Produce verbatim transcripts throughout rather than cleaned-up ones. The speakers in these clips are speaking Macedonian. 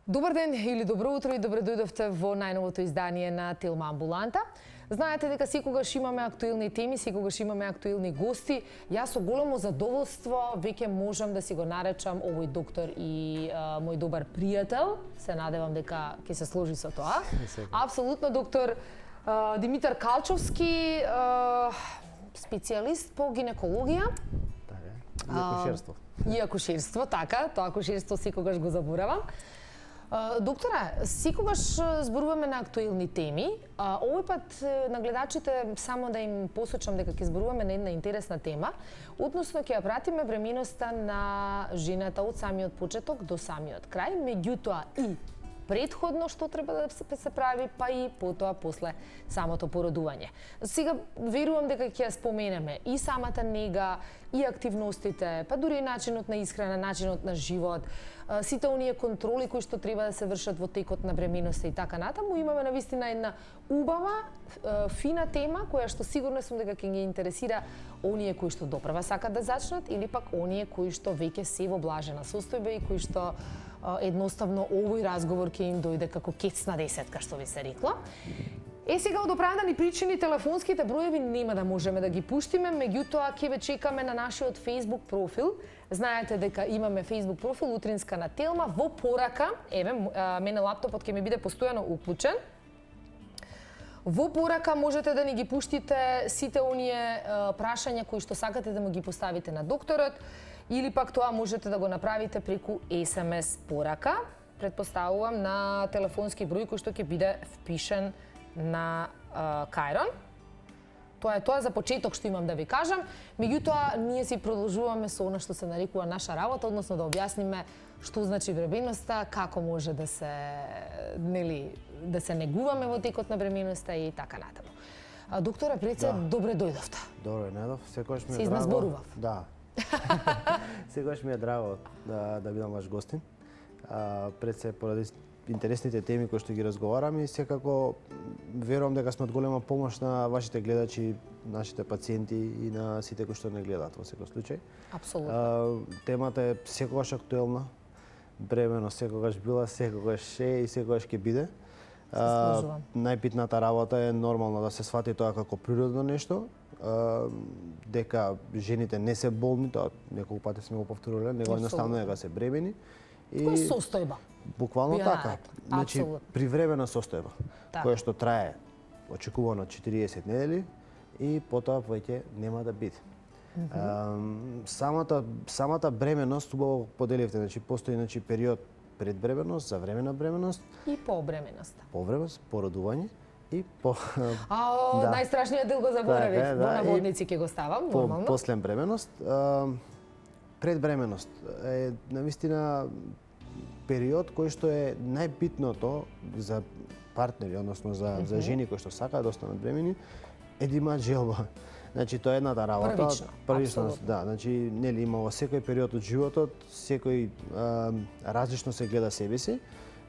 Добар ден или добро утро и добре дојдовте во најновото издание на Телма Амбуланта. Знаете дека секогаш имаме актуелни теми, секогаш имаме актуелни гости. Јас со големо задоволство веќе можам да си го наречам овој доктор и а, мој добар пријател. Се надевам дека ќе се сложи со тоа. Апсолутно доктор а, Димитар Калчовски, а, специјалист по гинекологија. Така, и акушерство. И акушерство, така, тоа акушерство секогаш го заборавам. Доктора, секогаш зборуваме на актуелни теми. Овој пат на гледачите само да им посочам дека ќе зборуваме на една интересна тема, односно ќе ја пратиме бременоста на жената од самиот почеток до самиот крај, меѓутоа и предходно што треба да се прави, па и потоа после самото породување. Сега верувам дека ќе ја споменеме и самата нега, и активностите, па дури и начинот на исхрана, начинот на живот, сите оние контроли кои што треба да се вршат во текот на бременоста и така натаму. Имаме навистина една убава, фина тема која што сигурно сум дека ќе ги интересира оние кои што доправа сакат да зачнат или пак оние кои што веќе се во блажена состојба и кои што едноставно овој разговор ќе им дојде како кец на десетка, што ви се рекло. Е, сега од оправдани причини телефонските броеви нема да можеме да ги пуштиме, меѓутоа ќе ве чекаме на нашиот Facebook профил. Знаете дека имаме Facebook профил Утринска на Телма во порака. Еве, мене лаптопот ќе ми биде постојано уклучен. Во порака можете да ни ги пуштите сите оние прашања кои што сакате да му ги поставите на докторот, или пак тоа можете да го направите преку ес ем ес порака. Предпоставувам на телефонски број кој што ќе биде впишен на uh, Кајрон. Тоа е тоа за почеток што имам да ви кажам. Меѓутоа, ние си продолжуваме со она што се нарекува наша работа, односно да објасниме што значи бременоста, како може да се, нели, да се негуваме во текот на бременоста и така натаму. А, доктора, пред се, да. Добре дојдовте. Добре, најдов. Секогаш ми е се драго. Се изназборував. Да. Секогаш ми е драго да, да бидам ваш гостин. А, пред се поради интересните теми кои што ги разговараме и секако верувам дека сме од голема помош на вашите гледачи, нашите пациенти и на сите кои што не гледаат во секој случај. Апсолутно. А, темата е секогаш актуелна. Бременост секогаш била, секогаш е и секогаш ќе биде. А, најбитната работа е нормално да се свати тоа како природно нешто, а, дека жените не се болни, тоа неколку пати сме го повторувале, него едноставно е дека се бремени. И која состојба? Буквално Ја, така. Значи, привремена состојба, так. која што трае очекувано четириесет недели и потоа веќе нема да биде. Mm -hmm. а, самата самата бременост убаво поделивте, значи постои значи период пред бременост, за време на бременост и по бременоста. По бременост, породување и по А, о, да. Најстрашниот дел го заборавив, така, во да, наводници ќе го ставам, по, нормално. После бременост, а, пред бременост е навистина период кој што е најбитното за партнери, односно за, mm -hmm. за жени кои што сакаат да останат бремени, е да имаат желба. Значи тоа е едната работа. Првично, Првично, да, значи нели има во секој период од животот, секој а, различно се гледа себе си.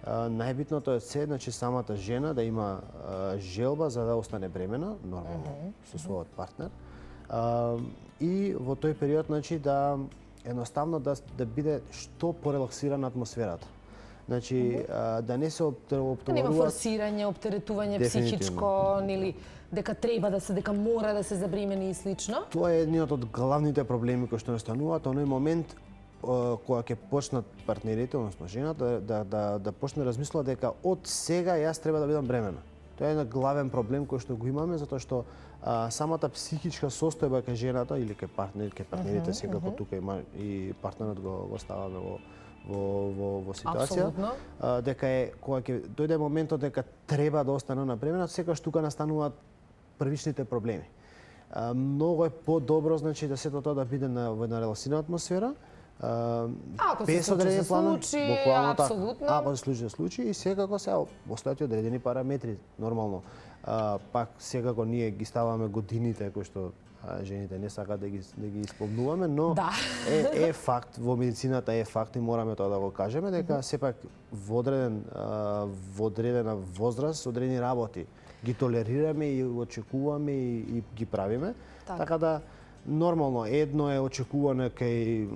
А, најбитното е се, значи самата жена да има а, желба за да остане бремена, нормално mm -hmm. со својот партнер. А, и во тој период значи да едноставно да да биде што порелаксирана атмосферата. Значи mm -hmm. да не се оптоваруваат. Да нема форсирање, оптеретување психичко, нели дека треба да се, дека мора да се забремени и слично. Тоа е едниот од главните проблеми кои што настануваат оној момент кога ќе почнат партнерите, односно жената да да да, да почне да размислува дека од сега јас треба да бидам бремена. Тоа е еден главен проблем кој што го имаме затоа што а, самата психичка состојба кај жената или кај партнер, кај партнерите, uh -huh, секако uh -huh. тука има и партнерот го го ставаме во во во во ситуација. А, дека е кога ќе дојде моментот дека треба да остане на бремена, секогаш тука настануваат првичните проблеми. А, многу е подобро значи да сето тоа да биде на во една релаксирана атмосфера. А, ако се случи, се случи, апсолутно. Ако се случи, се случи и секако се постојат одредени параметри, нормално. А, пак секако ние ги ставаме годините кои што а, жените не сакаат да ги да ги исполнуваме, но да. е е факт, во медицината е факт и мораме тоа да го кажеме дека mm -hmm. сепак во одреден во одредена возраст, одредени работи ги толерираме и очекуваме и, и ги правиме. Так. Така да нормално едно е очекувано кај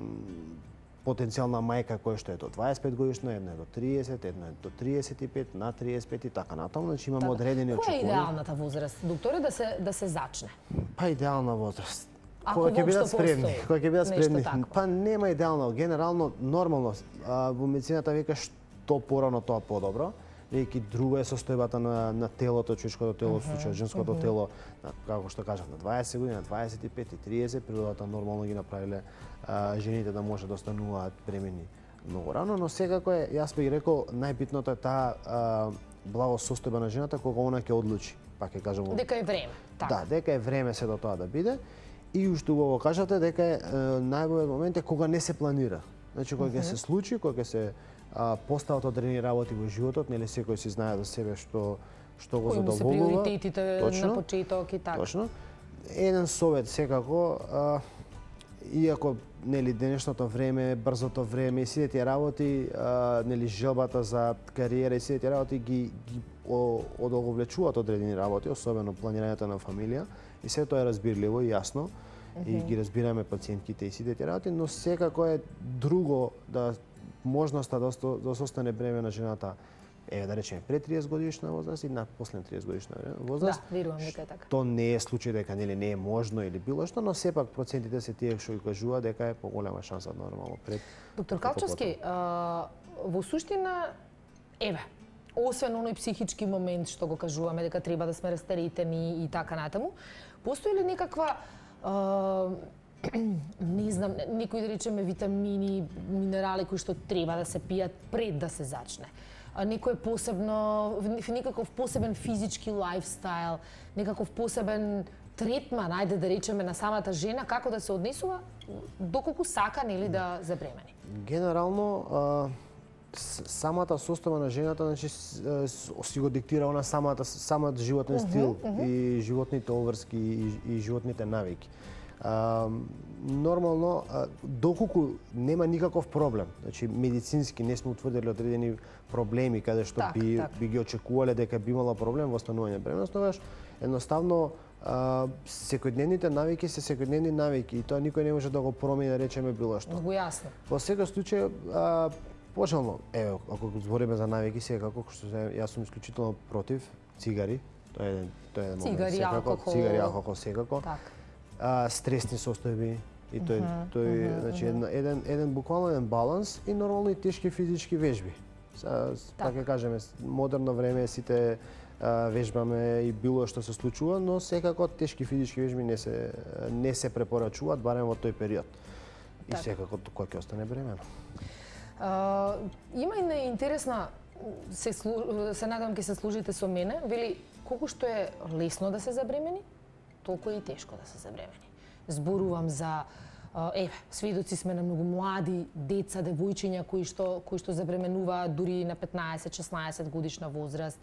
потенцијална мајка која што е до дваесет и пет годишна, една е до триесет, една е до триесет и пет, на триесет и пет и така натаму, значи имаме Така. одредени очекувања. Која е идеалната возраст, докторе, да се да се зачне? Па идеална возраст. Ако Кога ќе бидат воопшто спремни, постои кога ќе бидат нешто спремни. такво. Па нема идеално, генерално нормално. А, во медицината вика што порано тоа подобро. Веќе друго е состојбата на на телото, човечкото тело, во случајот женското тело, на, како што кажав, на дваесет години, на дваесет и пет и триесет, природата нормално ги направиле а, жените да може да остануваат бремени многу рано, но секако е, јас би рекол, најбитното е таа а, благо состојба на жената кога она ќе одлучи. Пак ќе кажам. Дека е време. Така. Да, дека е време се до тоа да биде. И уште убаво кажате дека е, најбојот момент е кога не се планира. Значи кога ќе се случи, кога ќе се а, постават одредени работи во животот, нели секој си знае за себе што што го Кои му се задоволува. приоритетите Точно, на почеток и така. Точно. Еден совет секако, а, иако нели денешното време, брзото време и сите тие работи, а, нели желбата за кариера и сите тие работи ги ги одолговлечуваат одредени работи, особено планирањето на фамилија, и се тоа е разбирливо и јасно. Mm -hmm. И ги разбираме пациентките и сите тие работи, но секако е друго да можноста да, осто, да се остане бремена жената, еве да речеме пред триесет годишна возраст и на после триесет годишна возраст. Да, верувам дека е така. Тоа не е случај дека нели не е можно или било што, но сепак процентите се тие што ги кажува дека е поголема шанса нормално пред. Доктор Калчевски, а, во суштина, еве, освен оној психички момент што го кажуваме дека треба да сме растаретени и така натаму, постои ли некаква а, не знам, некои да речеме витамини, минерали кои што треба да се пијат пред да се зачне? Некој посебно, некаков посебен физички лајфстайл, некаков посебен третман, ајде да речеме, на самата жена, како да се однесува доколку сака нели да забремени? Генерално, а, самата состојба на жената, значи си го диктира она самата самата животен стил uh -huh, uh -huh. и животните обврски и, и животните навики. А, нормално, а, доколку нема никаков проблем, значи медицински не сме утврдили одредени проблеми каде што так, би, так. би ги очекувале дека би имала проблем во останување бременост, тогаш едноставно а, секојдневните навики се секојдневни навики и тоа никој не може да го промени, да речеме било што. Многу јасно. Во секој случај, а, пожелно, еве, ако го збориме за навики, секако, што се, јас сум исклучително против цигари, тоа е тоа е еден момент, Цигари, секако, алкохол. цигари, алкохол, секако. Так. А, стресни состојби и тој Uh -huh, тој uh -huh, значи uh -huh. еден, еден еден буквално еден баланс и нормално и тешки физички вежби. Са, така ќе кажеме, модерно време сите а, вежбаме и било што се случува, но секако тешки физички вежби не се не се препорачуваат барем во тој период. И Так. секако кој ќе остане бремено. А, има и интересна, се, слу, се надам ќе се служите со мене, вели колку што е лесно да се забремени, толку е и тешко да се забремени. Зборувам за еве, сведоци сме на многу млади деца, девојчиња кои што кои што забременуваат дури на петнаесет-шеснаесет годишна возраст.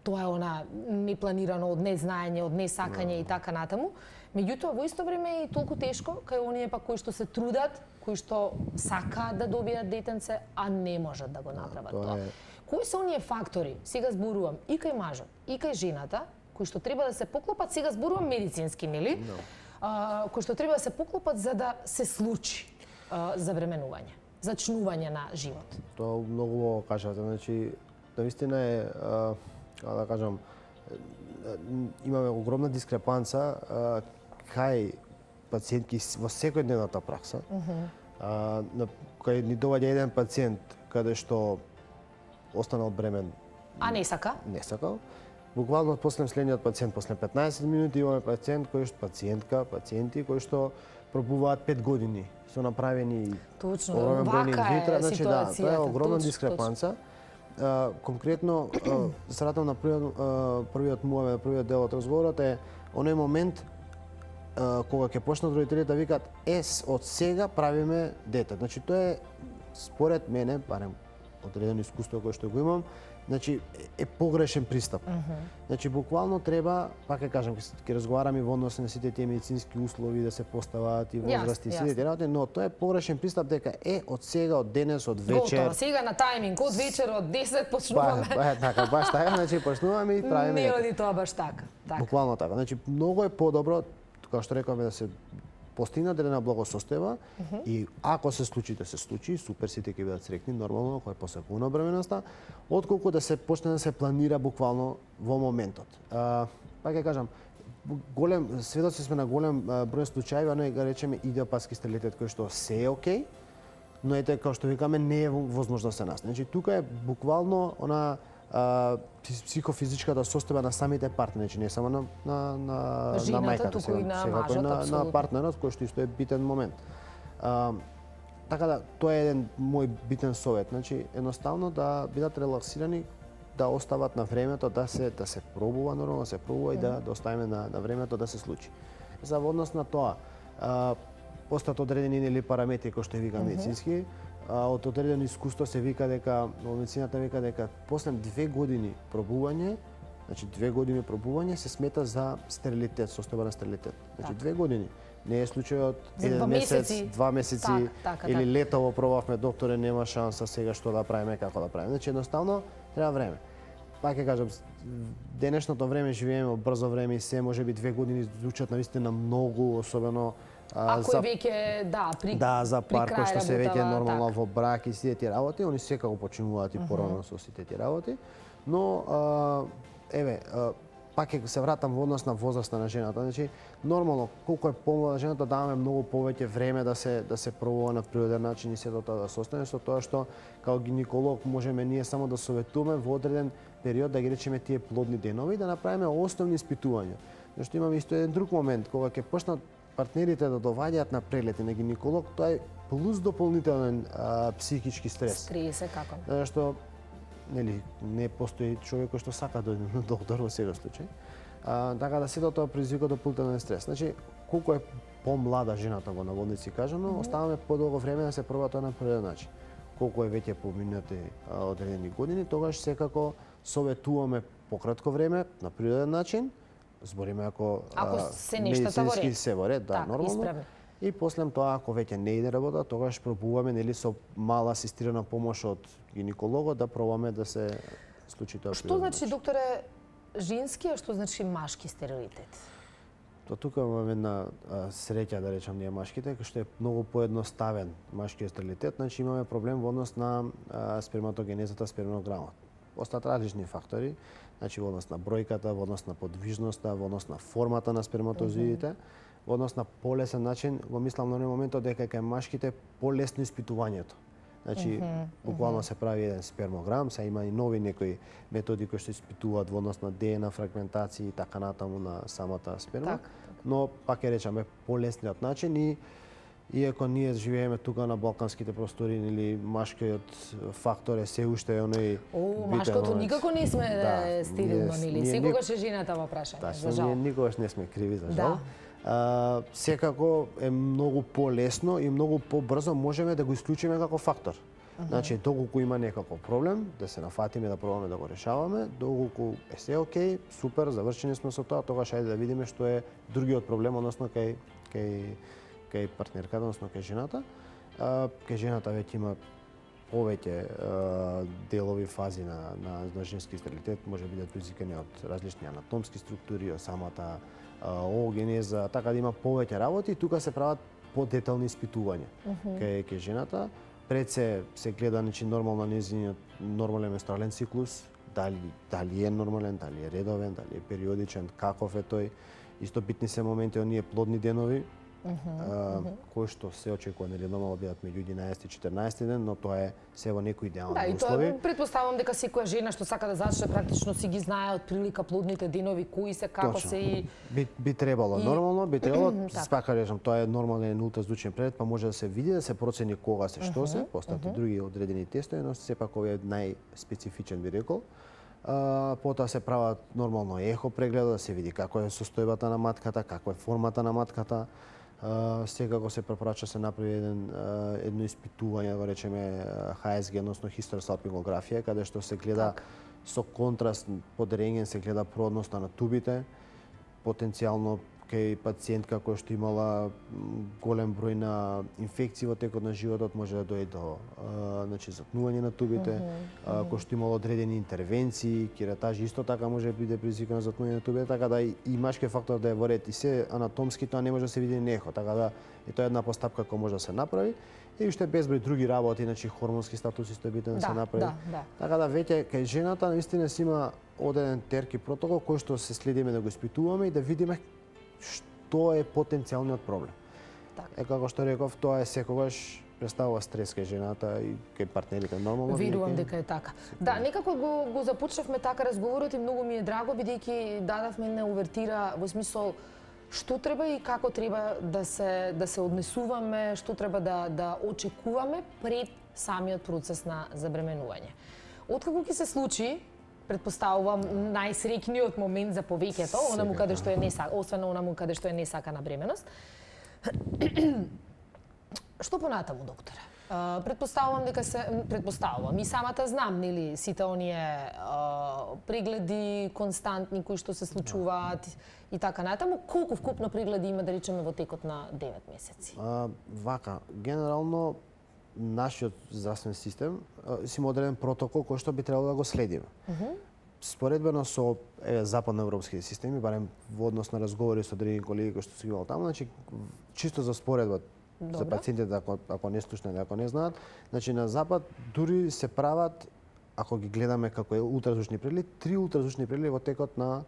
Тоа е она непланирано од незнаење, од несакање и така натаму. Меѓутоа во исто време е и толку тешко кај оние пак кои што се трудат, кои што сакаат да добијат детенце, а не можат да го направат тоа тоа. е- Кои се оние фактори? Сега зборувам и кај мажот, и кај жената, кои што треба да се поклопат, сега зборувам медицински, нели? No. А, кои што треба да се поклопат за да се случи а, забременување, зачнување на живот. Тоа многу убаво кажате, значи навистина е, а, како да кажам, имаме огромна дискрепанца а, кај пациентки во секојдневната пракса. Uh -huh. а, на, кај ни доаѓа еден пациент каде што останал бремен, А не сака? не сакал. Буквално после следниот пациент, после петнаесет минути имаме пациент кој што пациентка, пациенти кои што пробуваат пет години, со направени Точно, огромен број вака е инвитро, значи да, тоа е ситуацијата, огромна точно, дискрепанца. А, конкретно, се ратам на првиот, а, првиот муаве, првиот дел од разговорот е оној момент а, кога ќе почнат родителите да викаат е, од сега правиме дете. Значи тоа е според мене, барем одредено искуство кое што го имам, значи е погрешен пристап. Uh -huh. Значи буквално треба, пак ќе кажам, ќе разговараме во однос на сите тие медицински услови да се поставаат и возрасти и сите тие работи, но тоа е погрешен пристап дека е од сега, од денес, од вечер. Готово, сега на тајминг, од вечер од десет почнуваме. Ба, ба, така, баш така, значи почнуваме и правиме. Не дете. оди тоа баш така. така. Буквално така. Значи многу е подобро, како што рекуваме, да се постигна одредена благосостојба и ако се случи да се случи, супер, сите ќе бидат среќни, нормално, кој е посекувана бременоста, отколку да се почне да се планира буквално во моментот. А, па ќе кажам, голем сведоци сме на голем број случаи, а не го речеме идиопатски стерилитет кој што се е окей, но ете како што викаме не е возможно се нас. Значи тука е буквално она а, психофизичката состојба на самите партнери, значи не само на на на, Жената, на мајката, туку и на секако и мажот, на, на апсолутно. партнерот кој што исто е битен момент. А, така да тоа е еден мој битен совет, значи едноставно да бидат релаксирани, да остават на времето да се да се пробува нормално, да се пробува и да да оставиме на на времето да се случи. За во однос на тоа, а, постојат одредени нели параметри кои што вика медицински, а, од одредено искуство се вика дека во медицината вика дека после две години пробување, значи две години пробување се смета за стерилитет, состојба на стерилитет. Значи Так. две години. Не е случајот За еден два месец, месеци. два месеци Так, така, или така. летово пробавме, докторе, нема шанса сега што да правиме, како да правиме. Значи едноставно треба време. Пак ќе кажам, денешното време живееме во брзо време и се можеби две години звучат навистина многу, особено а, Ако е веќе, да, при да, за при пар крај кој што се веќе работава, нормално така. во брак и сите тие работи, они секако почнуваат и порано со сите тие работи, но а, еве, а, пак ќе се вратам во однос на возраста на жената. Значи, нормално, колку е помлада жената, даваме многу повеќе време да се да се пробува на природен начин и сето тоа да се остане, со тоа што како гинеколог можеме ние само да советуваме во одреден период да ги речеме тие плодни денови и да направиме основни испитувања. Зашто имаме исто еден друг момент кога ќе почнат партнерите да доваѓаат на прегледи на гинеколог, тоа е плюс дополнителен а, психички стрес. Стрес е како. Зашто нели не постои човек кој што сака да дојде на доктор во секој случај. А, така да сето тоа предизвика дополнителен стрес. Значи, колку е помлада жената во наводници кажано, mm -hmm. оставаме подолго време да се проба тоа на природен начин. Колку е веќе поминати а, одредени години, тогаш секако советуваме пократко време на природен начин, збориме ако, Ако се нештата во медицински ред. се во ред, да, Так, нормално. исправни. И после тоа, ако веќе не иде работа, тогаш пробуваме нели со мала асистирана помош од гинекологот да пробаме да се случи тоа. Што значи, докторе, женски, а што значи машки стерилитет? Тоа тука имаме една а, среќа, да речам, ние машките, кој што е многу поедноставен машкиот стерилитет, значи имаме проблем во однос на а, сперматогенезата, спермограмот. Остаат различни фактори, значи во однос на бројката, во однос на подвижноста, во однос на формата на сперматозоидите, во однос на полесен начин, го мислам на оној моментот дека кај машките полесно испитувањето. Значи, буквално се прави еден спермограм, се има и нови некои методи кои што испитуваат во однос на ДНК фрагментација и така натаму на самата сперма, Так, но пак ќе речеме полесниот начин и иако ние живееме тука на балканските простори или машкиот фактор е се уште оној О, битен машкото момент. никако не сме Да, стерилно, ние- нели? ние Секогаш е жената во прашање, за Тачно, жал. ние никогаш не сме криви за жал. Да. А, секако е многу полесно и многу побрзо можеме да го исклучиме како фактор. Значи, доколку има некако проблем, да се нафатиме да пробаме да го решаваме, доколку е се окей, супер, завршени сме со тоа, тогаш ајде да видиме што е другиот проблем, односно кај кај кај партнерката, односно кај жената. А, кај жената веќе има повеќе а, делови фази на, на, на женски стерилитет, може да бидат предизвикани од различни анатомски структури, од самата а, оогенеза, така да има повеќе работи и тука се прават подетални испитувања кај, кај жената. Пред се се гледа значи нормално нејзиниот нормален менструален циклус, дали дали е нормален, дали е редовен, дали е периодичен, каков е тој. Исто битни се моменти оние плодни денови, а, кои што се очекува нели нормално бидат меѓу единаесети и четрнаесети ден, но тоа е се во некои Да, идеални и услови. тоа претпоставувам дека секоја жена што сака да зачне практично си ги знае од прилика плодните денови, кои се, како Точно. се и Би, би требало, И- нормално би требало, Така. спака речам, тоа е нормален ултразвучен преглед, па може да се види, да се процени кога се, што се, постојат и други одредени тестови, но сепак овој е најспецифичен би рекол. А, потоа се прават нормално ехо преглед, да се види како е состојбата на матката, каква е формата на матката. А, секако се препорача се направи еден а, едно испитување, да го речеме Х С Г, односно хистеросалпингографија, каде што се гледа Так. со контраст под рентген се гледа продноста на тубите, потенцијално кај пациентка која што имала голем број на инфекции во текот на животот, може да дојде до а, значи затнување на тубите, mm -hmm. кој што имало одредени интервенции, кератажи исто така може да биде предизвикано затнување на тубите, така да и, и машки фактор да е во ред и се анатомски тоа не може да се види нехо, така да е тоа една постапка која може да се направи. И уште безброј други работи, значи хормонски статус исто е битен да, да се направи. Да, да. Така да веќе кај жената наистина си има одреден терки протокол кој што се следиме да го испитуваме и да видиме што е потенцијалниот проблем. Так. Е како што реков, тоа е секогаш представува стрес кај жената и кај партнерите нормално. Верувам дека е така. Да, некако го го започнавме така разговорот и многу ми е драго бидејќи дадавме една увертира во смисол што треба и како треба да се да се однесуваме, што треба да да очекуваме пред самиот процес на забременување. Откако ќе се случи, претпоставувам најсреќниот момент за повеќето, онаму каде што е не сака, освен онаму каде што е несакана бременост. Што понатаму, докторе? Uh, предпоставувам дека се предпоставувам и самата знам, нели, сите оние uh, прегледи константни кои што се случуваат и, и така натаму. Колку вкупно прегледи има, да речеме, во текот на девет месеци? А, вака, генерално нашиот здравствен систем си има одреден протокол кој што би требало да го следиме. Uh -huh. Споредбено со е, западноевропските системи, барем во однос на разговори со одредени колеги кои што се имал таму, значи чисто за споредба за пациентите, ако, ако не слушнат, ако не знаат, значи на запад дури се прават, ако ги гледаме како е ултразвучни прегледи, три ултразвучни прегледи во текот на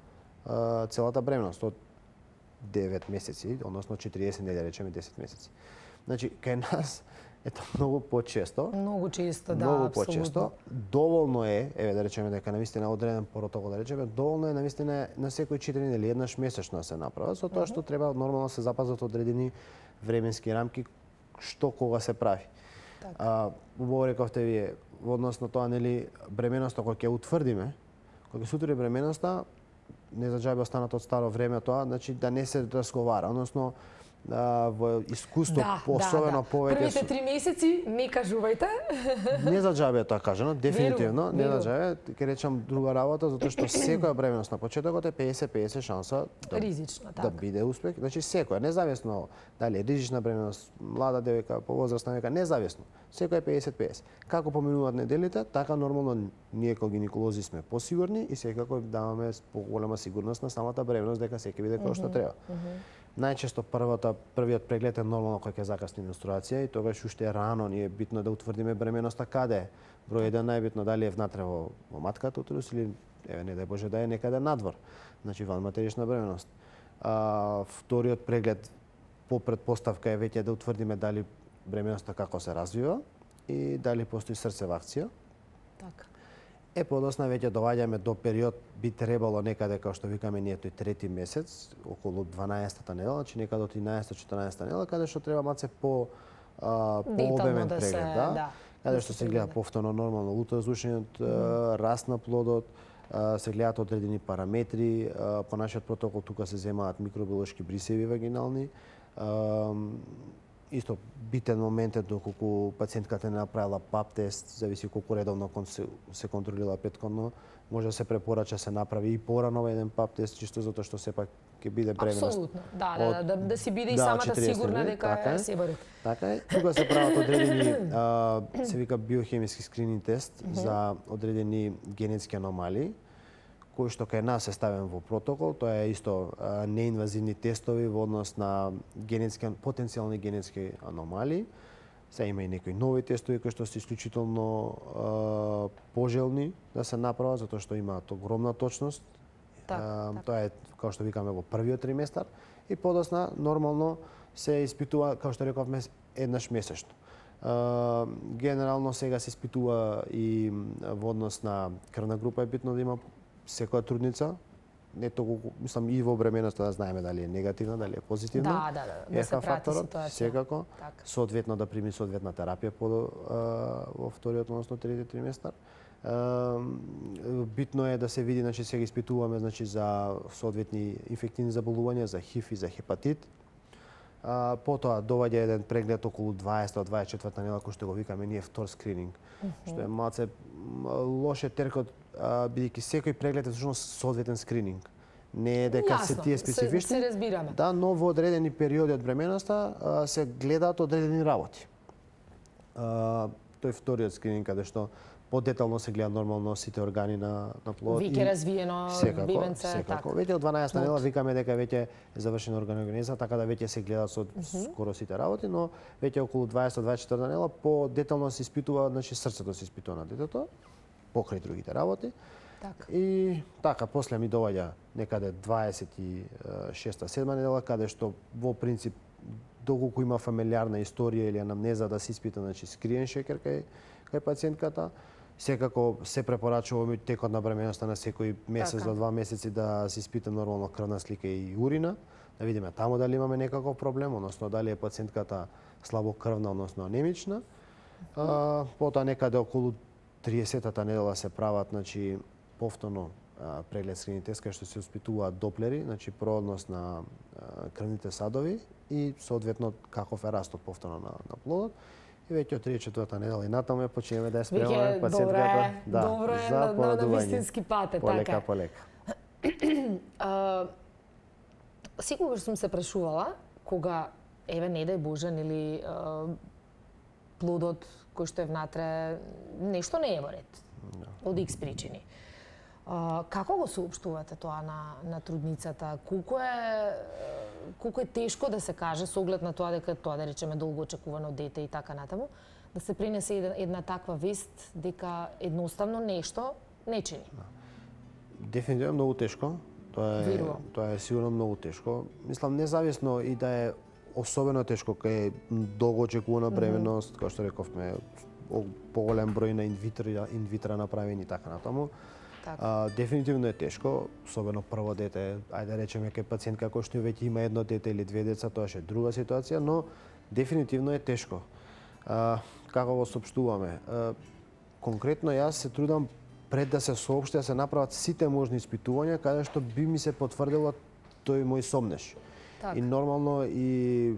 а, целата бременост, од девет месеци, односно четириесет недели, речеме десет месеци. Значи, кај нас ето многу почесто. Многу често, да, многу апсолутно. почесто. Доволно е, еве да речеме дека навистина одреден протокол, да речеме, доволно е навистина на секој четири недели еднаш месечно да се направи, со тоа што треба нормално се запазат одредени временски рамки што кога се прави. Так. А, убаво рековте вие, во однос на тоа, нели, бременоста кога ќе утврдиме, кога ќе се утврди бременоста, не за џабе останато од старо време тоа, значи да не се разговара, односно а, во искуство, да, особено да, да. повеќе... Првите три месеци не кажувајте. Не за џабе е тоа кажано, дефинитивно, Веру, не веру. за џабе, ќе речам друга работа, затоа што секоја бременост на почетокот е педесет педесет шанса да, Ризична, да така. биде успех. Значи секоја, независно дали е ризична бременост, млада девојка, повозрасна девојка, независно. Секоја е педесет педесет. Како поминуваат неделите, така нормално ние како гинеколози сме посигурни и секако даваме поголема сигурност на самата бременост дека се ќе биде како што треба. Најчесто првата првиот преглед е нормално кога ќе закасни менструација и тогаш уште е рано, ние е битно да утврдиме бременоста каде е. Број еден најбитно дали е внатре во, во матката утрус или еве не дај Боже да е некаде надвор. Значи ван матерична бременост. А, вториот преглед по претпоставка е веќе да утврдиме дали бременоста како се развива и дали постои срцева акција. Така. Е, подосна веќе доаѓаме до период, би требало некаде, како што викаме ние, тој трети месец, околу дванаесетата недела, значи некаде од тринаесетта-четиринаесетта недела, каде што треба малце по а, по-обемен да преглед, се, да. да. Каде Да што се се гледа прегледа. повторно нормално ултразвучниот mm. раст на плодот, а, се гледаат одредени параметри, а, по нашиот протокол тука се земаат микробиолошки брисеви вагинални. А, исто битен момент е доколку пациентката не направила пап тест, зависи колку редовно се, се контролира претходно, може да се препорача се направи и порано еден пап тест, чисто затоа што сепак ќе биде бременост. Апсолутно, да, да, да, да, да си биде и да, самата четириесет сигурна недели, дека така е е. се бари. Така е. Тука се прават одредени, а, се вика биохемиски скрининг тест mm -hmm. за одредени генетски аномалии, кој што кај нас е ставен во протокол, тоа е исто а, неинвазивни тестови во однос на генетски потенцијални генетски аномалии. Се има и некои нови тестови кои што се исклучително а, пожелни да се направат затоа што имаат огромна точност. Так, а, так. Тоа е како што викаме во првиот триместар и подосна нормално се испитува, како што рековме, еднаш месечно. А, генерално сега се испитува и во однос на крвна група е битно да има секоја трудница, не толку, мислам, и во бременоста да знаеме дали е негативна, дали е позитивна. Да, да, да, да се прати ситуација. Секако, Така. соодветно да прими соодветна терапија по а, во вториот, односно трети триместар. А, битно е да се види, значи сега испитуваме, значи за соодветни инфективни заболувања, за ХИВ и за хепатит. А, потоа доваѓа еден преглед околу дваесетта до дваесет и четвртта недела, кој што го викаме ние втор скрининг, mm -hmm. што е малце лоше теркот, бидејќи секој преглед е всушност соодветен скрининг. Не е дека се Јасно, тие се- специфични. се разбираме. Да, но во одредени периоди од бременоста а, се гледаат одредени работи. А, тој вториот скрининг каде што подетално се гледа нормално сите органи на на плодот. Веќе и развиено секако, бебенце, секако. така. Веќе од дванаесетта Плод. недела викаме дека веќе е завршена органогенеза, така да веќе се гледаат со скоро сите работи, но веќе околу дваесетта до дваесет и четвртта недела по-детално се испитува, значи срцето се испитува на детето, покрај другите работи. Така. И така, после ми доаѓа некаде дваесет и шеста седма недела, каде што во принцип доколку има фамилиарна историја или анамнеза да се испита, значи скриен шекер кај кај пациентката, секако се препорачува ми текот на бременоста на секој месец Така. до два месеци да се испита нормално крвна слика и урина, да видиме таму дали имаме некаков проблем, односно дали е пациентката слабокрвна, односно анемична. А, потоа некаде околу триесеттата недела се прават, значи повторно а, преглед скрининг тест кај што се испитуваат доплери, значи проодност на а, крвните садови и соодветно каков е растот повторно на, на плодот. И веќе од триесет и четвртата недела и натаму ја почнеме да ја спремаме Веќе пациентката. добре, добре за на, на, на порадување. вистински пат е, Полека, така. полека. А, секогаш сум се прашувала кога еве не дај Боже нели а, плодот кој што е внатре нешто не е во ред. Од икс причини. А, како го соопштувате тоа на на трудницата? Колку е колку е тешко да се каже со оглед на тоа дека тоа да речеме долго очекувано дете и така натаму, да се пренесе една, една таква вест дека едноставно нешто не чини. Дефинитивно многу тешко. Тоа е Верувам. тоа е сигурно многу тешко. Мислам независно и да е особено тешко кај е долго очекувана бременност, како што рековме, о- поголем број на инвитра инвитра направени и така натаму. Така. А, дефинитивно е тешко, особено прво дете, ајде да речеме кај пациентка кој што веќе има едно дете или две деца, тоа е друга ситуација, но дефинитивно е тешко. А, како го соопштуваме? А, конкретно јас се трудам пред да се соопшти да се направат сите можни испитувања каде што би ми се потврдило тој мој сомнеш. Така. И нормално и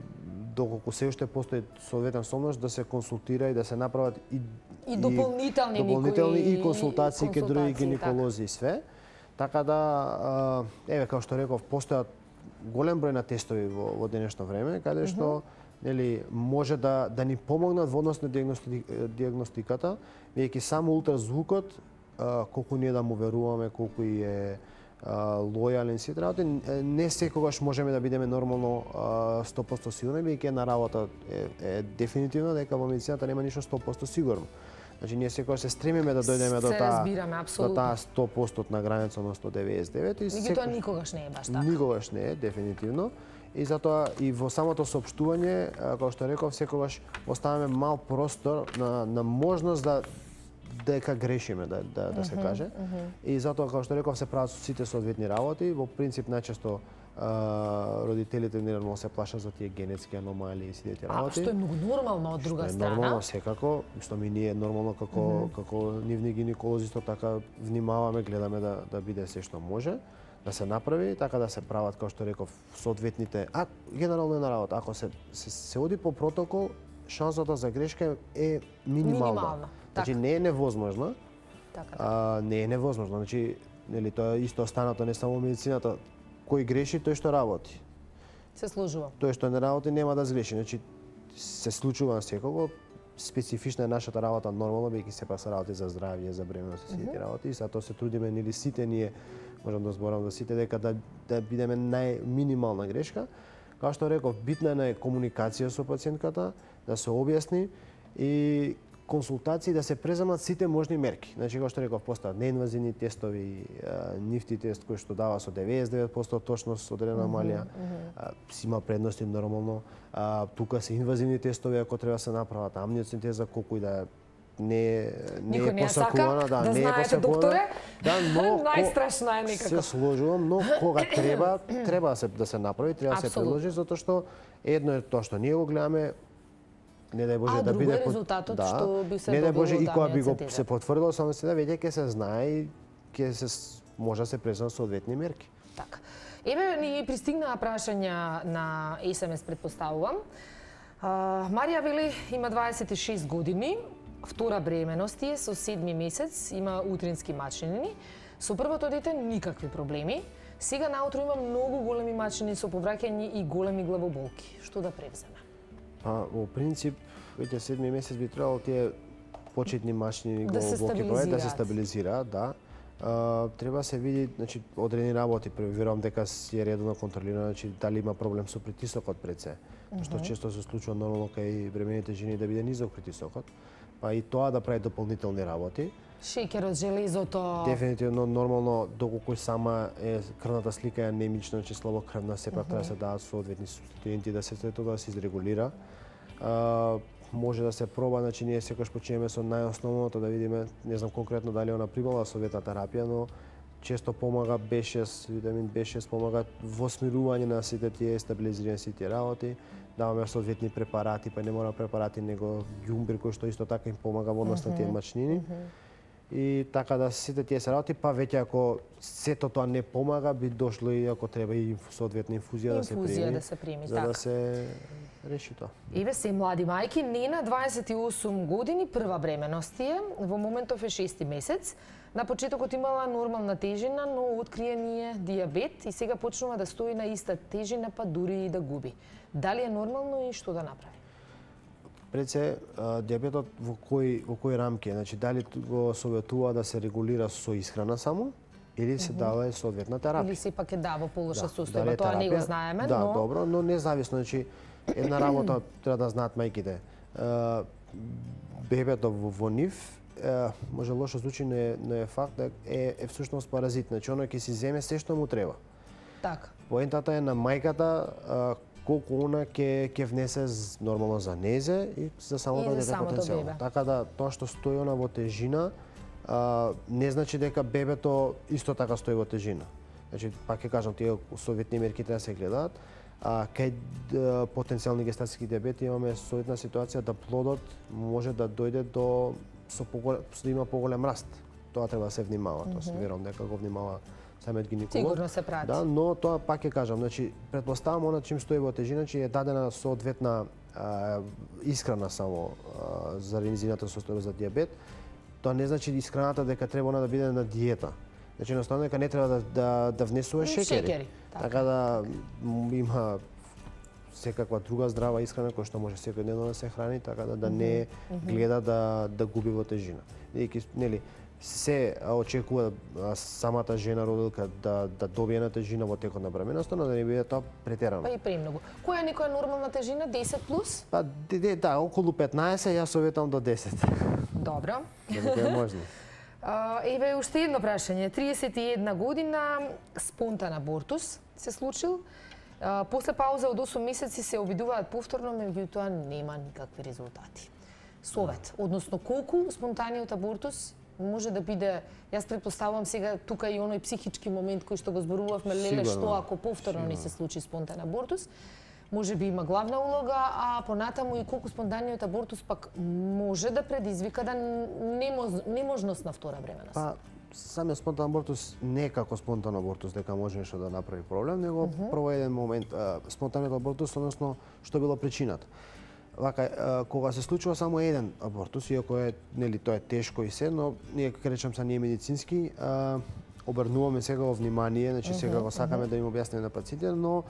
доколку се уште постои соодветен сомнеш да се консултира и да се направат и И дополнителни дополнителни некои и консултации кај други консултации, гинеколози и све. Така да а, еве како што реков постојат голем број на тестови во, во денешно време каде што нели може да да ни помогнат во однос на диагности, диагностиката, веќе само ултразвукот а, колку ние да му веруваме, колку и е а, лојален сите работи, не секогаш можеме да бидеме нормално а, сто проценти сигурни, веќе една работа е, е дефинитивно дека во медицината нема ништо сто проценти сигурно. Значи ние секогаш се стремиме да дојдеме до Се таа разбираме, до апсолутно. таа сто проценти на граница, односно деветдесет и девет и Меѓутоа никогаш не е баш така. Никогаш не е, дефинитивно. И затоа и во самото соопштување, а, како што реков, секогаш оставаме мал простор на, на можност да дека грешиме, да, да, да се каже. И затоа, како што реков, се прават сите соодветни работи. Во принцип, најчесто а, родителите нормално се плашат за тие генетски аномалии и сите тие А, работи. што е многу нормално од друга Што е страна. нормално секако, што ми ние нормално како mm -hmm. како нивни гинеколози исто така внимаваме, гледаме да да биде се што може да се направи, така да се прават како што реков соодветните, а генерално една работа, ако се се, се оди по протокол, шансата за грешка е минимална. Минимална, Значи така. не е невозможна, Така, така. а не е невозможно. Значи нели тоа е исто останато не само медицината, кој греши тој што работи. Се сложува. Тој што не работи нема да сгреши. Значи се случува на секого. Специфична е нашата работа нормално, бидејќи сепак се работи за здравје, за бременност и сите работи. И затоа се трудиме нели сите ние, можам да зборам за сите, дека да да бидеме најминимална грешка. Како што реков, битна е комуникација со пациентката, да се објасни и консултации да се преземат сите можни мерки. Значи, како што реков, постојат неинвазивни тестови, нифти тест кој што дава со деветдесет и девет проценти точност одредена малија, си има предности нормално. А, тука се инвазивни тестови ако треба се направат, амниоцин тест за колку и да е не не Никој е не ја сака, посакувана, да, да не е знаете, посакувана. докторе. Да, но Најстрашна е се некако. сложувам, но кога треба, треба да се да се направи, треба да се Апсолутно. предложи затоа што едно е тоа што ние го гледаме, не дај Боже А, да друго биде е под- резултатот да, што би се не дај Боже добило и од кога би го амниоцентеза. се потврдило само сега веќе ќе се знае и ќе се с- може да се преземат соодветни мерки. Така. Еве ни пристигнаа прашања на ес ем ес, предпоставувам. А, Марија вели има дваесет и шест години, втора бременност е со седми месец, има утрински мачнини. Со првото дете никакви проблеми. Сега наутро има многу големи мачини со повраќање и големи главоболки. Што да превземе? Па, во принцип, веќе седми месец би требало тие почетни мачини да се главоболки да се стабилизираат, да. Uh, треба се види, значи, одредени работи, верувам дека си е редовно контролирано, значи, дали има проблем со притисокот пред се. Mm -hmm. Што често се случува нормално кај бремените жени да биде низок притисокот, па и тоа да прави дополнителни работи. Шеќерот, железото... Дефинитивно, нормално, доколку сама е крвната слика е анемична, значи слабокрвна, сепак mm -hmm. треба да се дадат соодветни студенти да се тоа да се изрегулира. Uh, може да се проба, значи ние секогаш почнеме со најосновното да видиме, не знам конкретно дали она примала советна терапија, но често помага би шест, витамин би шест помага во смирување на сите тие стабилизирање сите тие работи. Даваме соодветни препарати, па не мора препарати, него ѓумбир кој што исто така им помага во однос на тие мачнини. Mm -hmm. И така да сите тие се работи, па веќе ако сето тоа не помага, би дошло и ако треба и соодветна инфузија, да се прими. Инфузија да се прими, за така. да се реши тоа. Еве се млади мајки, Нена дваесет и осум години, прва бременност е, во моментов е шести месец. На почетокот имала нормална тежина, но откриен е дијабет и сега почнува да стои на иста тежина, па дури и да губи. Дали е нормално и што да направи? Пред се, дијабетот во кои во кои рамки е? Значи дали го советува да се регулира со исхрана само или се дава и соодветна терапија? Или сепак е дава по лоша да, состојба, тоа не го знаеме, да, но Да, добро, но независно, значи една работа треба да знаат мајките. Бебето во, во нив може лошо звучи, но е, но е факт да е, е всушност паразит, значи оно ќе си земе се што му треба. Така. Поентата е на мајката колку она ќе ќе внесе нормално за незе и за самото дете потенцијално. Така да тоа што стои она во тежина а, не значи дека бебето исто така стои во тежина. Значи пак ќе кажам, тие советни мерки треба да се гледаат. А кај потенцијални гестатски дијабети имаме соодветна ситуација да плодот може да дојде до со поголем, да има поголем раст. Тоа треба да се внимава, тоа се верувам дека го внимава самиот гинеколог. Сигурно се прати. Да, но тоа пак ќе кажам, значи претпоставам она чим стои во тежина, че е дадена соодветна а, исхрана само а, за низината состојба за дијабет. Тоа не значи исхраната дека треба она да биде на диета. Значи едноставно дека не треба да да, да внесува шеќери. Шеќери. Така, така да има секаква друга здрава исхрана која што може секојдневно да се храни, така да да не гледа да да губи во тежина. Бидејќи нели се очекува самата жена родилка да да добие на тежина во текот на бременоста, но да не биде тоа претерано. Па и премногу. Која е некоја нормална тежина? десет плюс? Па да, да, околу петнаесет, јас советам до десет. Добро. Додека е можно. Еве уште едно прашање. триесет и една година, спонтан абортус се случил. После пауза од осум месеци се обидуваат повторно, меѓутоа нема никакви резултати. Совет, односно колку спонтаниот абортус може да биде, јас претпоставувам сега тука и оној психички момент кој што го зборувавме, леле, што ако повторно ни се случи спонтан абортус, може би има главна улога, а понатаму и колку спонтаниот абортус пак може да предизвика да неможност на втора бременост. Па, самиот спонтан абортус не е како спонтан абортус дека може нешто да направи проблем, него uh -huh. прво еден момент спонтаниот абортус, односно што било причината. Вака, кога се случува само еден абортус, иако е, нели, тоа е тешко и се, но ние, како речам, са ние медицински, а, обрнуваме сега во внимание, значи сега го сакаме да им објасниме на пациентите, но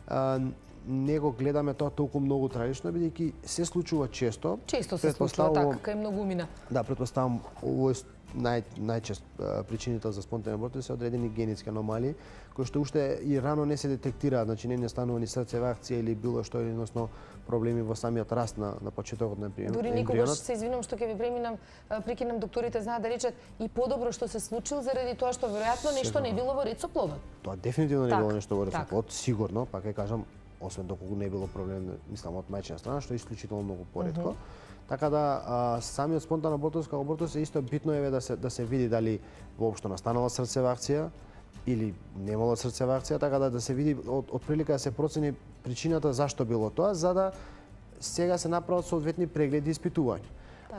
а, не го гледаме тоа толку многу трагично, бидејќи се случува често. Често се случува така, кај многумина. Да, претпоставам, овој нај најчест причините за спонтан абортус се одредени генетски аномалии, кои што уште и рано не се детектираат, значи не не станува ни срцева акција или било што, или односно проблеми во самиот раст на на почетокот на ембрионот. Дури никогаш се извинувам што ќе ви преминам, прекинам, докторите знаат да речат и подобро што се случил заради тоа што веројатно нешто не било во ред со плодот. Тоа дефинитивно не било нешто во ред со плод, сигурно, пак ќе кажам, освен доколку не било проблем, мислам, од мајчина страна, што е исклучително многу поретко. Uh -huh. Така да а, самиот спонтан абортус како абортус е исто битно е да се да се види дали воопшто настанала срцева акција или немало срцева акција, така да да се види од, од прилика да се процени причината зашто било тоа, за да сега се направат соодветни прегледи и испитувања.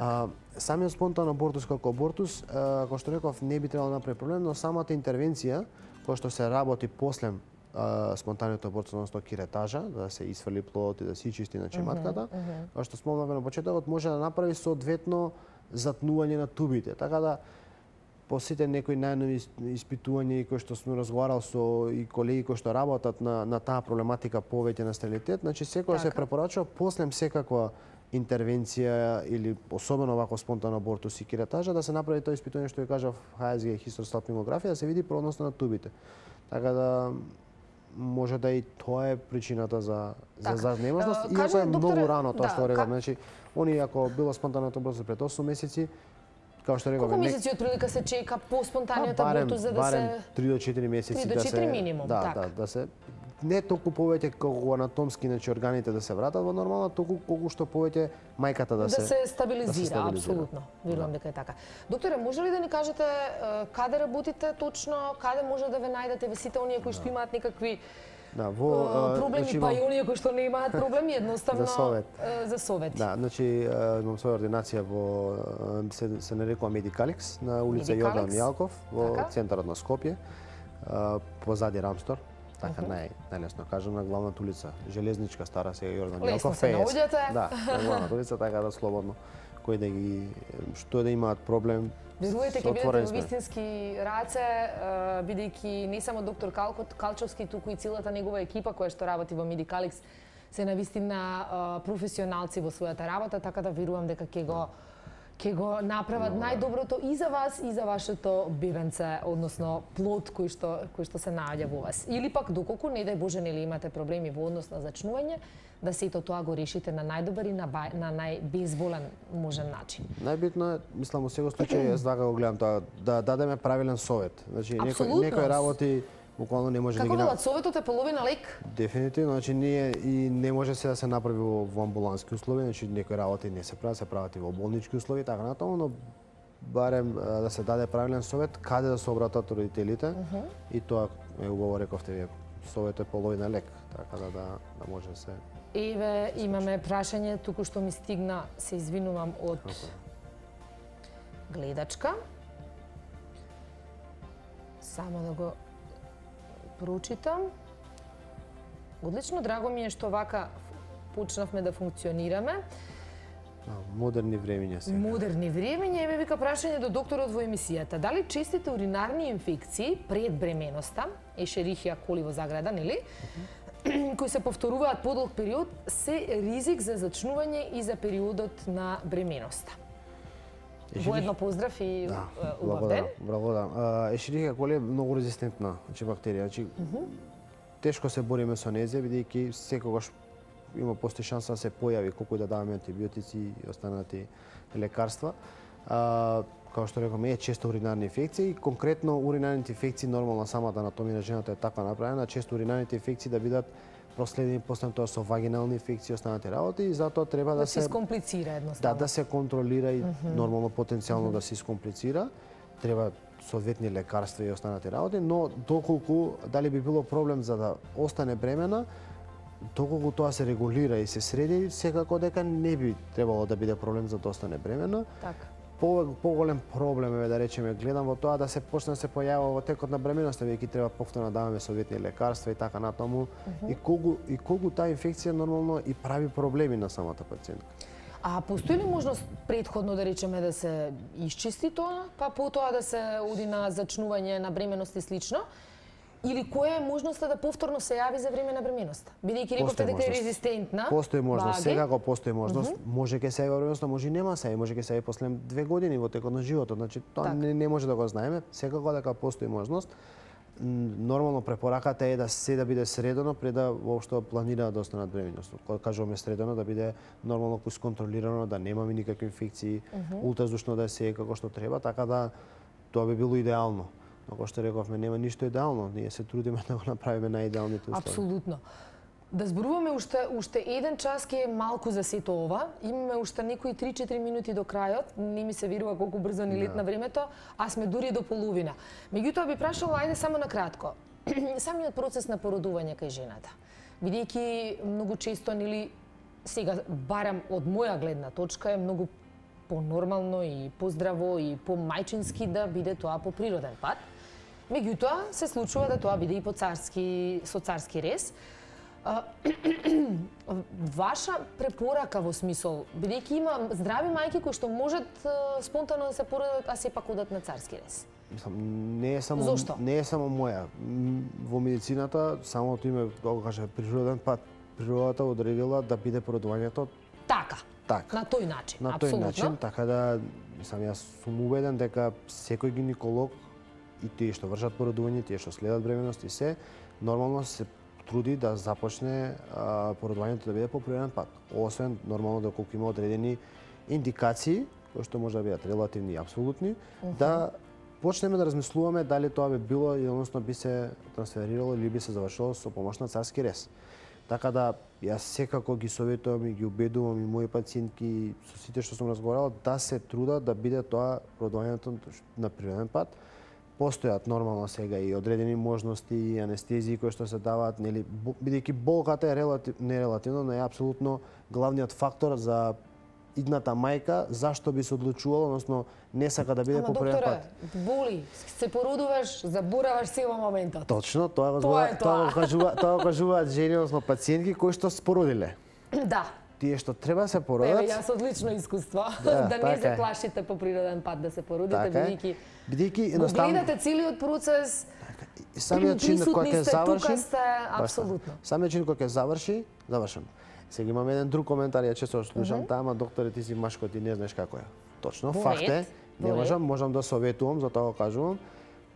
А, самиот спонтан абортус како абортус, а, како што реков, не би требало да направи проблем, но самата интервенција која што се работи после Uh, спонтаниот абортус, односно киретажа, да се исфрли плодот и да се ичисти на чематката, uh -huh, uh -huh. што спомнавме на почетокот, може да направи соодветно затнување на тубите. Така да по сите некои најнови испитувања кои што сме разговарал со и колеги кои што работат на на таа проблематика повеќе на стерилитет, значи секој се препорачува после секаква интервенција или особено вако спонтан абортус и киретажа да се направи тоа испитување што ја кажав Х С Г хистеростатмиграфија да се види продноста на тубите. Така да може да и тоа е причината за за занемажност, иако е многу рано тоа што реков, значи они ако било спонтаното абортус пред осум месеци, како што реков, колку месеци отприлика се чека по спонтаниот абортус за да се барем три до четири месеци да се минимум, да, да, да се не толку повеќе колку анатомски, значи органите да се вратат во нормална, толку колку што повеќе мајката да се да се стабилизира, апсолутно. Верувам дека е така. Докторе, може ли да ни кажете каде работите точно, каде може да ве најдете ве сите оние кои што имаат некакви Да, во проблеми, значи, па и оние кои што не имаат проблеми, едноставно за совет. За совети. Да, значи имам своја ординација во се, се нарекува Медикаликс на улица Јордан Јалков во така? Центарот на Скопје, позади Рамстор. Така uh -huh. нај најлесно кажам на главната улица, железничка стара сега Јордан Јалков петдесет. Да, на главната улица така да слободно кој да ги што да имаат проблем. Верувате ќе бидете во вистински раце, бидејќи не само доктор Калчовски, туку и целата негова екипа која што работи во Медикаликс се навистина професионалци во својата работа, така да верувам дека ќе го ќе го направат најдоброто и за вас и за вашето бебенце, односно плод кој што кој што се наоѓа во вас. Или пак доколку не дај Боже нели имате проблеми во однос на зачнување, да сето тоа го решите на најдобар и на, бај, на најбезболен можен начин. Најбитно е, мислам, во секој случај јас така го гледам тоа, да дадеме правилен совет. Значи некој некој работи буквално не може Како да ги велат, советот е половина лек? Дефинитивно, значи ние и не може се да се направи во, во амбулански услови, значи некои работи не се прават, се прават и во болнички услови, така натаму, но барем да се даде правилен совет каде да се обратат родителите uh -huh. и тоа е убаво рековте вие, советот е половина лек, така да да, да може да се. Еве имаме прашање туку што ми стигна, се извинувам од okay. гледачка. Само да го прочитам. Одлично, драго ми е што вака почнавме да функционираме. Модерни времиња сега. Модерни времиња, еве вика прашање до докторот во емисијата. Дали честите уринарни инфекции пред бременоста, ешерихија коли во заграда, нели? Uh -huh. кои се повторуваат подолг период, се ризик за зачнување и за периодот на бременоста. Воедно поздрав и да, убав ден. Благодарам. Ешерихија коли е многу резистентна, значи бактерија. Значи, uh -huh. тешко се бориме со незе, бидејќи секогаш има постои шанса да се појави колку да даваме антибиотици и останати лекарства. А, како што рекоме, е често уринарни инфекции и конкретно уринарните инфекции, нормално самата анатомија на жената е така направена, често уринарните инфекции да бидат проследени после тоа со вагинални инфекции и останати работи и затоа треба да, да се се искомплицира едноставно. Да, да се контролира и mm -hmm. нормално потенцијално mm -hmm. да се искомплицира. Треба соодветни лекарства и останати работи, но доколку дали би било проблем за да остане бремена, доколку тоа се регулира и се среди, секако дека не би требало да биде проблем за да остане бремена. Така. По, поголем проблем е, да речеме, гледам во тоа да се почне да се појавува во текот на бременоста, веќе треба повторно да даваме советни лекарства и така натаму. Uh -huh. И колку и колку таа инфекција нормално и прави проблеми на самата пациентка. А постои ли можност претходно да речеме да се исчисти тоа, па потоа да се оди на зачнување на бременост и слично? Или која е можноста да повторно се јави за време на бременоста? Бидејќи рековте дека е резистентна. Постои можност, секако постои можност. Uh -huh. Може ќе се јави во бременоста, може и нема се, може ќе се јави после две години во текот на животот. Значи тоа так. не, не може да го знаеме, секако дека постои можност. Нормално препораката е да се да биде средено пред да воопшто планира да останат бременост. Кога кажуваме средено, да биде нормално исконтролирано, да немаме никакви инфекции, uh -huh. ултразвучно да се како што треба, така да тоа би било идеално. Но како што рековме, нема ништо идеално. Ние се трудиме да го направиме најидеалните услови. Апсолутно. Да зборуваме уште уште еден час ке е малку за сето ова. Имаме уште некои три-четири минути до крајот. Не ми се верува колку брзо ни летна времето, а сме дури до половина. Меѓутоа би прашала, ајде само на кратко. Самиот процес на породување кај жената. Бидејќи многу често нели сега барам од моја гледна точка е многу понормално и поздраво и помајчински да биде тоа по природен пат. Меѓутоа се случува да тоа биде и по царски со царски рез. Ваша препорака во смисол, бидејќи има здрави мајки кои што можат спонтано да се породат, а сепак одат на царски рез. мислам, не е само Зошто? не е само моја. М, Во медицината самото име да го каже природен пат, природата одредила да биде породувањето Така. така. На тој начин, На тој апсолутно. начин, така да мислам јас сум убеден дека секој гинеколог и тие што вршат породување, тие што следат бременност и се, нормално се труди да започне а, породувањето да биде по природен пат. Освен нормално доколку има одредени индикации, кои што може да бидат релативни и апсолутни, uh -huh. да почнеме да размислуваме дали тоа би било и односно би се трансферирало или би се завршило со помош на царски рез. Така да јас секако ги советувам и ги убедувам и мои пациентки со сите што сум разговарал да се трудат да биде тоа породувањето на природен пат. Постојат нормално сега и одредени можности и анестезии кои што се даваат, нели, бидејќи болката е релатив, не релативно, но е апсолутно главниот фактор за идната мајка зашто би се одлучувала, односно не сака да биде Ама, по природен докторе, пат. боли, се породуваш, забораваш се во моментот. Точно, тоа го Тоа зборува- е тоа тоа. го кажува, тоа го кажуваат жени, односно пациентки кои што спородиле. Да. Тие што треба се Еве, породат. јас одлично искуство. Да, Да, не така се е. плашите по природен пат да се породите, Така е. бидејќи Бидејќи го едноставно гледате целиот процес, и самиот чин кога присутни ќе сте, заврши, тука сте, баш апсолутно. така. Самиот чин кога ќе заврши, завршено. Сега имам еден друг коментар, ја често слушам, таа, ама докторе ти си машко, ти не знаеш како е. Точно, Во факт е. ред, Не во ред. можам, можам да советувам, затоа го кажувам.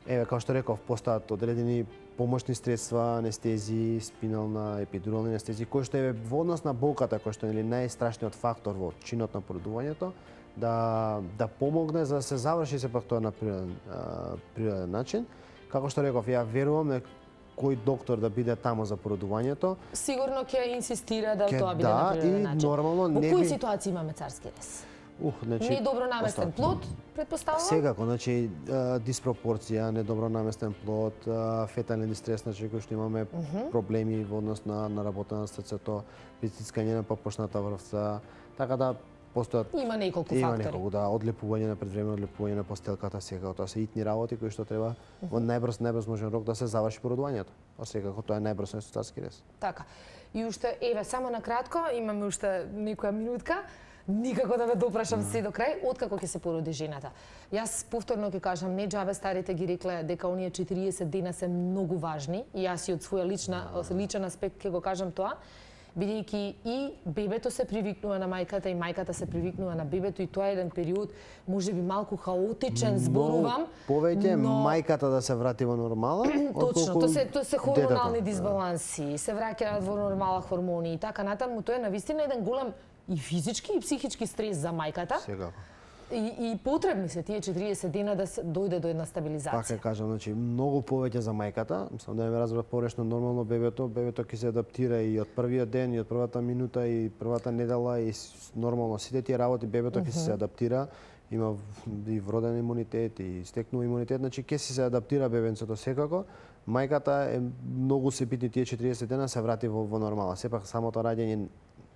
Еве, како што реков, постојат одредени помошни средства, анестезии, спинална, епидурални анестезии, кои што е во однос на болката, кој што е најстрашниот фактор во чинот на породувањето, да да помогне за да се заврши сепак тоа на природен, а, природен начин. Како што реков, ја верувам дека кој доктор да биде таму за породувањето, Сигурно ќе инсистира да Ќе тоа биде да, на природен и начин. нормално Во не кои би- ситуации имаме царски рез? ух, значи Не добро наместен постојат. плод, претпоставувам? Секако, значи а, диспропорција, недобро наместен плод, а, фетален дистрес, значи кој што имаме uh -huh. проблеми во однос на на работа на срцето, притискање на попошната врвца, така да постојат Има неколку има фактори. неколку, да, одлепување на предвремено одлепување на постелката, секако тоа се итни работи кои што треба во најбрз најбрз можен рок да се заврши породувањето. А секако тоа е најбрз со царски рез. Така. И уште, еве, само на кратко, имаме уште некоја минутка. Никако да ве допрашам се до крај, откако ќе се породи жената. Јас повторно ќе кажам, не џабе старите ги рекле дека оние четириесет дена се многу важни, и јас и од своја лична, личен аспект ќе го кажам тоа, бидејќи и бебето се привикнува на мајката и мајката се привикнува на бебето и тоа е еден период можеби малку хаотичен, зборувам, повеќе но... мајката да се врати во нормала, Точно, отколку тоа се тоа се хормонални детето. дисбаланси, се враќаат во нормала хормони и така натаму, тоа е навистина еден голем и физички и психички стрес за мајката. Секако. И, и потребни се тие четириесет дена да се дојде до една Пак стабилизација. ќе кажам, значи многу повеќе за мајката, мислам да ме разбра порешно нормално бебето, бебето ќе се адаптира и од првиот ден, и од првата минута, и првата недела, и с- нормално сите тие работи бебето ќе се адаптира, има в- и вроден имунитет и стекнува имунитет, значи ќе се адаптира бебенцето секако. Мајката е многу се битни тие четириесет дена се врати во, во нормала. Сепак самото раѓање,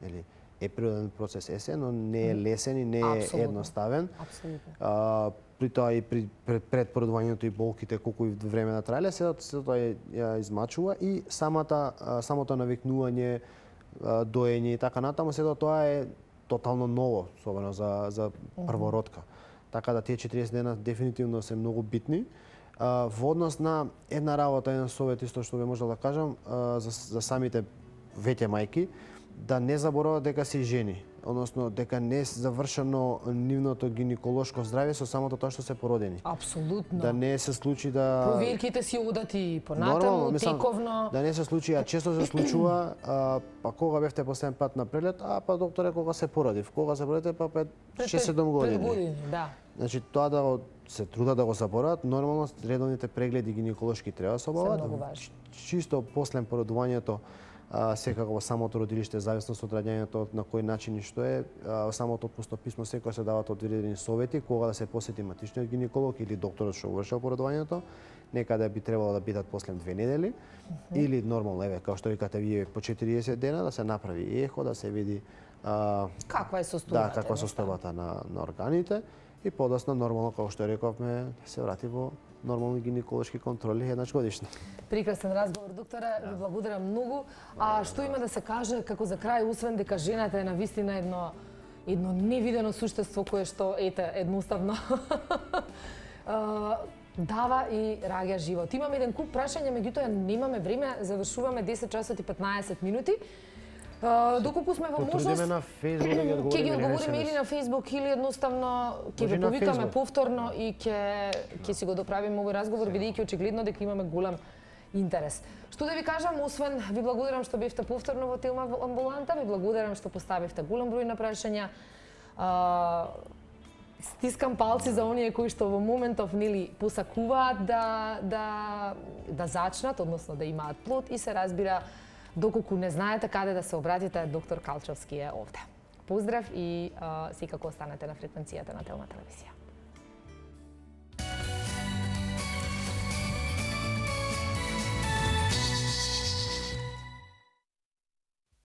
нели, е природен процес есе, но не е лесен и не е Апсолутно. едноставен. Апсолутно. А, при тоа и при пред, пред породувањето и болките колку и време на траеле, се се тоа ја, ја измачува и самата а, самото навикнување, а, доење и така натаму, се тоа е тотално ново, особено за за првородка. Така да тие четириесет дена дефинитивно се многу битни. А, во однос на една работа, еден совет исто што би можел да кажам а, за, за самите веќе мајки, да не заборават дека се жени, односно дека не е завршено нивното гинеколошко здравје со самото тоа што се породени. Апсолутно. Да не се случи да Проверките си одат и Нормално, понатаму, мислам, тековно. да не се случи, а често се случува, а, па кога бевте последен пат на прелет, а па докторе кога се породив, кога се породите, па пред шест-седум години. Пред години, да. Значи тоа да го, се трудат да го заборават, нормално редовните прегледи гинеколошки треба да се обават. многу важни. Чисто после породувањето, а, секако во самото родилиште, зависност од раѓањето на кој начин и што е, а, во самото отпусно писмо секој се дават одредени совети кога да се посети матичниот гинеколог или докторот што вршел породувањето. Некаде би требало да бидат после две недели mm -hmm. или нормално, еве, како што викате вие, по четириесет дена да се направи ехо, да се види а, Каква е состојбата? да, каква е состојбата на, на органите и подоцна нормално, како што рековме, се врати во нормални гинеколошки контроли еднаш годишно. Прекрасен разговор, докторе, ви благодарам многу. А што има да се каже како за крај, освен дека жената е навистина едно едно невидено суштество кое што ете едноставно а, дава и раѓа живот. Имаме еден куп прашања, меѓутоа немаме време, завршуваме десет часот и петнаесет минути. Uh, доколку сме во можност, Потрудиме на Facebook да ги одговориме. Ќе ги одговориме или на Facebook или едноставно ќе Може ги на повикаме Facebook. повторно и ќе ќе си го доправиме овој разговор, бидејќи очигледно дека имаме голем интерес. Што да ви кажам, освен ви благодарам што бевте повторно во Телма амбуланта, ви благодарам што поставивте голем број на прашања. Uh, стискам палци за оние кои што во моментов нели посакуваат да да да зачнат, односно да имаат плод и се разбира доколку не знаете каде да се обратите, доктор Калчовски е овде. Поздрав и а, секако останете на фреквенцијата на Телма телевизија.